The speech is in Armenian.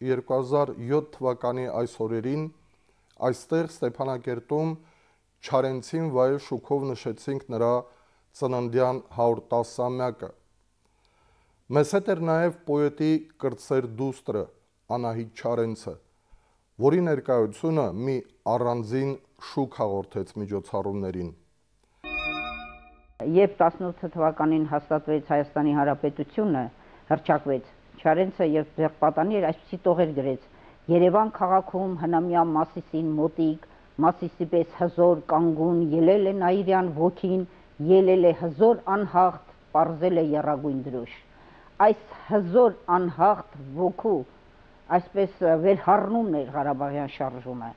2007 թվականի այս օրերին այստեղ Ստեփանակերտում Չարենցին վայել շուքով նշեցինք նրա ծննդյան 110-ամյակը։ Մեզ հետ էր նաև պոետի կրտսեր դուստրը Անահիտ Չարենցը, որի ներկայությունը մի առանձին շուք հաղորդեց միջոցառումներին։ Երբ 18 թվականին հաստատվեց Հայաստանի Հանրապետությունը, հռչակվեց, Չարենցը երբ դեղպատանի էր, այսպիսի տողեր գրեց. Երևան քաղաքում հնամյա Մասիսին մոտիկ, Մասիսի պես հզոր կանգուն, ելել է Նաիրյան ոգին, ելել է հզոր անհաղթ, պարզել է եռագույն դրոշ։ Այս հզոր անհաղթ ոգու այսպես վերհառնումն էր Ղարաբաղյան շարժումը։